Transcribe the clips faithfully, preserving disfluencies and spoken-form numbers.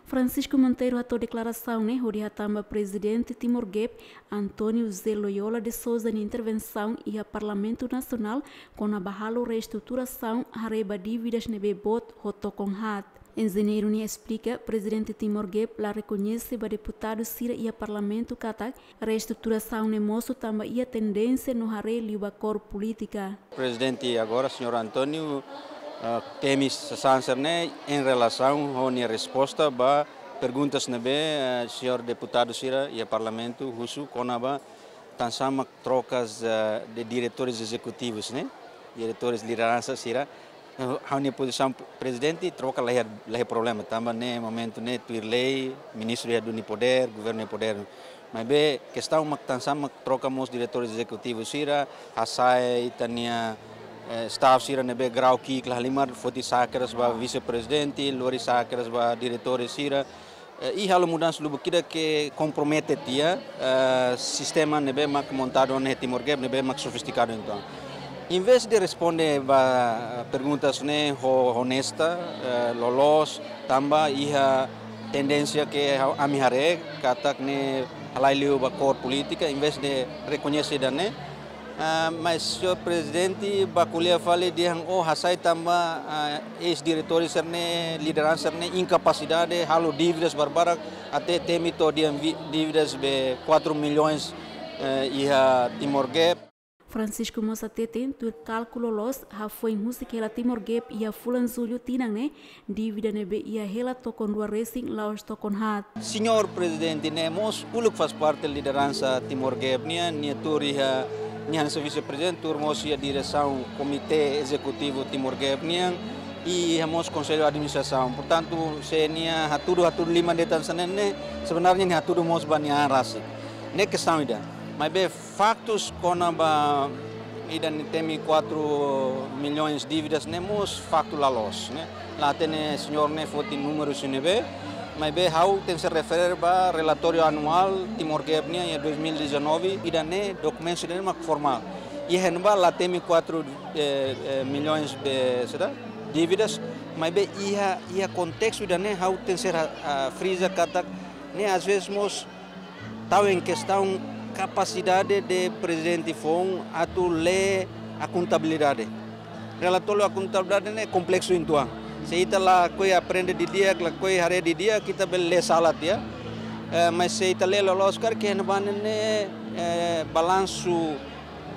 Francisco Monteiro hato'o deklarasaun ne'e hodi hatán ba Prezidente Timor Gap, António José Loyola de Sousa nia intervensaun iha Parlamentu Nasionál kona-ba halo reestruturasaun haree ba dívidas ne'ebé boot ho tokon haat. Enjeñeiru ne'e esplika, Prezidente Timor Gap la rekoñese ba deputadu sira iha Parlamentu katak reestruturasaun ne'e mosu tanba iha tendénsia no haree liu ba kór polítika. Prezidente agora, señór António, ah, temi sasán sira-ne'e em relação ho nia resposta ba perguntas ne'ebé, eh, señór deputadu sira iha Parlamentu husu kona-ba tansá mak trokas, eh, de diretores ezecutivos, ne'e? Diretores lideransa sira. Eh, ha'u-nia pozisaun, Prezidente, troka la iha, la iha problema. Tanba ne'e momentu ne'e tuir lei, ministru iha duni podér, governu iha podér. Maibé kestaun mak tansá mak troka mós diretores ezecutivos sira, hasai ita-nia, eh, staff sira ne'ebé grau ki'ik la halimar, foti sa'e kedas ba vise-prezidente, lori sa'e kedas ba diretores sira, eh, i halo mudansa lubuk ida ke kompromete tiha, eh, sistema ne'ebé mak montadu ona iha Timor Gap, ne'ebé mak sofistikadu entaun. Em vez de responde ba perguntas ne'e ho-, honesta, eh, loloos, tanba iha tendénsia ke ha-, ami haree, katak ne'e halai liu ba kór polítika, em vez de rekoñese ida-ne'e, ah, mas señór Prezidente bá ko'alia fali dehan, oh, hasai tanba, ah, eis-diretores sira-ne'e, lideransa sira-ne'e inkapasidade, halo dívidas barbarak, até temi to'o dehan vi-, dívidas be quatro milhões, eh, iha Timor Gap. Francisco mós hateten, tuir kálkulu loloos, hafoin husik hela Timor Gap iha fulan Jullu tinan ne'e, dívida ne'ebé iha hela tokon rua resin la'ós tokon haat. Señór Prezidente ne'e mós uluk faz parte lideransa Timor Gap nian, nia tuur iha, nia hanesan vise-prezidente, tuur mós iha diresaun Komité Ezekutivu Timor Gap nian, i iha mós Konsellu Administrasaun. Portantu, se nia hatudu, hatudu liman de'it hanesan ne'e, sebenarnya nia hatudu mós ba nia an rasik. Ne'e kestaun ida. Maibé faktus kona-ba ida-ne'e temi quatro milhões dívidas ne'e mós faktu la loos, ne'e. La hatene señór ne'e foti númeru sira ne'ebé, maibé ha'u tenke refere ba relatóriu anuál Timor Gap nian iha dois mil e dezanove, ida-ne'e dokumentu sira-ne'e mak formál. Iha ne'ebá la temi quatro, eh, eh, milhões de, será? Dívidas, maibé iha, iha kontestu ida-ne'e ha'u tenke, ah, friza katak ne'e às vezes mós tau em questão kapasidade de prezidente foun atu lee a kontabilidade. Relatóriu a kontabilidade ne'e kompleksu uitoan. Se ita lakohi aprende didi'ak, lakohi haree didi'ak, ita bele lee sala tiha. Eh, mas se ita lee loloos karik, iha ne'ebá ne'e, eh, balansu,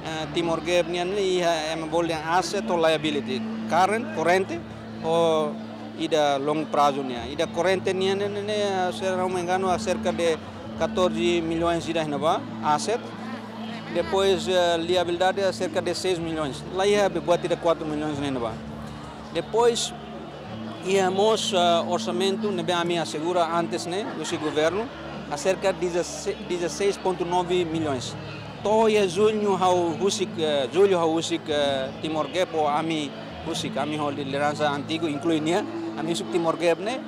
eh, Timor Gap nian ne'e iha ema bolu dehan asset ho liability. Current, korrente, ho ida longu prazu nian. Ida korrente nian ne'e, ne'e, ne'e, se não me engano, acerca de catorze milhões ida iha ne'ebá, asset. Depois, eh, liabilidade acerca de seis milhões. La iha be buat ida quatro milhões iha ne'ebá. Depois, iha mós, eh, orsamentu ne'ebé ami asegura antes ne'e, husi governu, acerca de dezasseis ponto nove milhões. To'o iha Jullu ha'u husik, eh, Jullu ha'u husik, eh, Timor Gap ho ami husik, ami ho lideransa antigu, inklui nia, ami husik Timor Gap ne'e,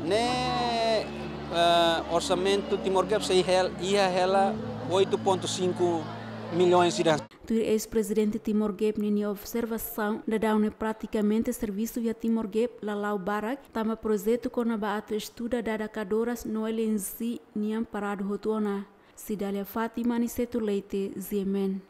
ne'e, eh, orsamentu Timor Gap sei hel-, iha hela oito ponto cinco milhões ida. Tuir eis-prezidente Timor Gap ninia observasaun, daudaun ne'e pratikamente servisu iha Timor Gap la la'o barak, tanba projetu kona-ba atu estuda dada kadoras no L N G nian paradu hotu ona. Cidália Fátima, Aniceto Leite, G M N.